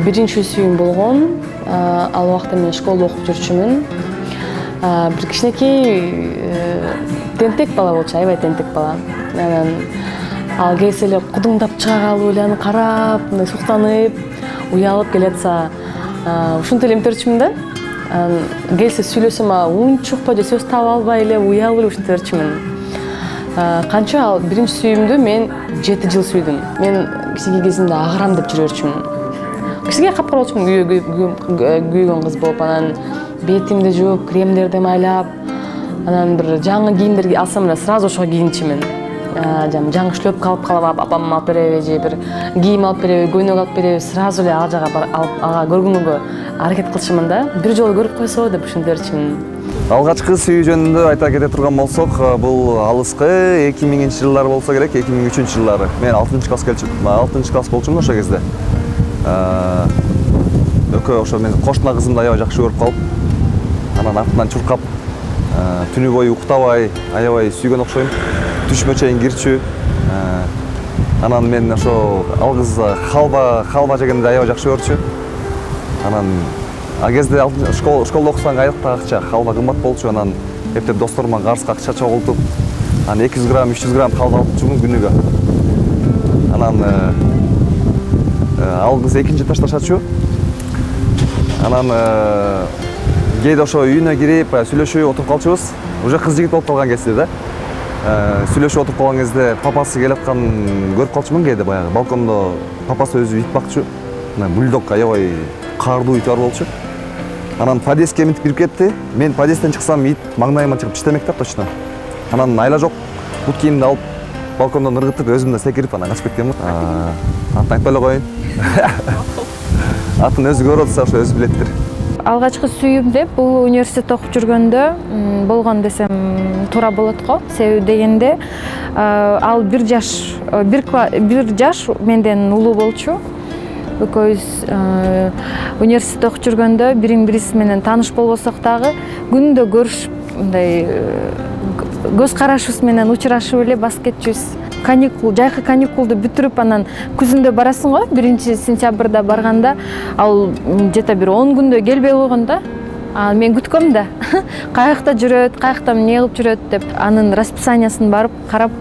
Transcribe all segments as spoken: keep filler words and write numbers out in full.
Биринчи сүйүүм болгон. Ал убакта мен школдо окуп жүрчүмүн. Бир кичинекей тентек бала болчу, аябай тентек бала. Анан ал келсе эле кудуңдап чыга калып эле аны карап, мындай суктанып, уялып келатса, ушинтип эле эмтерчүмүн да. Анан келсе сүйлөсөм, унчукпай же сөз таба албай эле уялып эле ушинтип берчүмүн. Канча ал биринчи сүйүүмдү мен жети жыл сүйдүм. Мен кичинекей кезимде агарам деп жүрө берчүмүн. Кичинекей капкара болчумун, күйгөн кыз болуп, анан бетимди жууп, кремдерди майлап, анан бир жаңы кийимдер алсам эле сразу ошого кийинчүмүн. Жаңы шлёпка алып калып, апам алып береби же бир кийим алып береби, көйнөк алып береби, сразу эле ал жака ага көргөнгө аракет кылчумун да. Бир жолу көрүп койсо деп ушинтип берчүмүн. Алгачкы сүйүү жөнүндө айта кете турган болсок, бул алыскы эки миңинчи жылдары болсо керек, эки миң үчүнчү жылдары. Мен алтынчы класс келчүмүн, алтынчы класс болчумун ошол кезде. Экөө ошо мен кошуна кызымды аябай жакшы көрүп калып, анан артынан чуркап, түнү бою уктабай, аябай сүйгөн окшойм. Түшмө чейин кирчү. Анан мен ошо ал кыз халва, халва жегенди аябай жакшы көрчү. Анан а кезде школда окусаң айлыкта акча, халва кымбат болчу. Анан эптеп досторума карызга акча чогултуп, анан эки жүз грамм, үч жүз грамм халва алып жүрчүмүн күнүгө. Анан ал кыз экинчи этажда жашачу. Анан кээде ошо үйүнө кирип, сүйлөшүп отуруп калчубуз. Уже кыз жигит болуп калган кезде да. Сүйлөшүп отуруп калган кезде папасы келатканын көрүп калчумун кээде баягы. Балкондо папасы өзү ит бакчу. Бульдог аябай каардуу ит бар болчу. Анан подъездге минтип кирип кетти. Мен подъездден чыксам ит маңдайыма чыгып иштемек да точно. Анан айла жок. Бут кийимди алып балкондон ыргытып, өзүм да секирип анан качып кеткенмин. Атын айтпай эле коеюн. Атын өзү көрүп атса ошо өзү билеттир. Алгачкы сүйүүм деп бул университетте окуп жүргөндө болгон десем туура болот го. Себеби дегенде ал бир жаш бир жаш менден улуу болчу. Экөөбүз университетте окуп жүргөндө бириң бирибиз менен тааныш болбосок дагы күндө көрүшүп, мындай көз карашыбыз менен учурашып эле басып кетчүбүз. Каникул, жайкы каникулду бүтүрүп, анан күзүндө барасың го, биринчи сентябрда барганда, ал жета бир он күндө келбей койгон да. Мен күткөм да. Каякта жүрөт, каякта эмне кылып жүрөт деп, анын расписаниясын барып карап,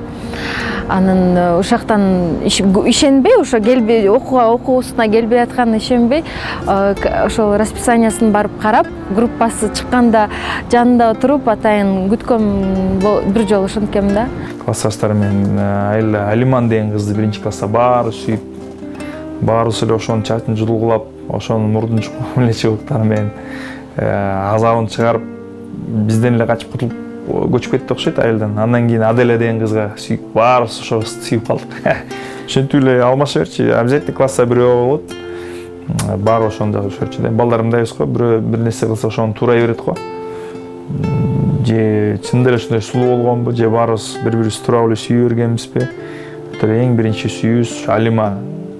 анын ошоктон ишенбей, ошо келбей, окууга окуусуна келбей атканына ишенбей, ошол расписаниясын барып карап, группасы чыкканда жанында отуруп, атайын күткөм бир жолу ошенткем да. Классташтарым менен Айла Алиман деген кызды биринчи класста баары сүйүп, баарыбыз эле ошонун чачын жулгулап, ошонун мурдун чукмун эле чыбыктары менен азабын чыгарып, бизден эле качып кутулуп көчүп кетти окшойт айылдан. Андан кийин Аделя деген кызга сүйүп, баарыбыз ошо кызды сүйүп калдык. Ошентип эле алмаша берчи, обязательно класста бирөө болот. Баары ошону да көрчү да. Балдар мындайбыз го, бирөө бир нерсе кылса ошону туурай берет го. Же чындап эле ушундай сулуу болгонбу, же баарыбыз бири-бирибизди туура эле сүйө бергенбизби? Эң биринчи сүйүүбүз Алима,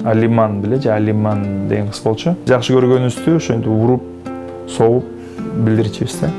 Алиман беле, же Алиман деген кыз болчу. Жакшы көргөнүбүздү ошентип уруп, согуп билдирчүбүз да.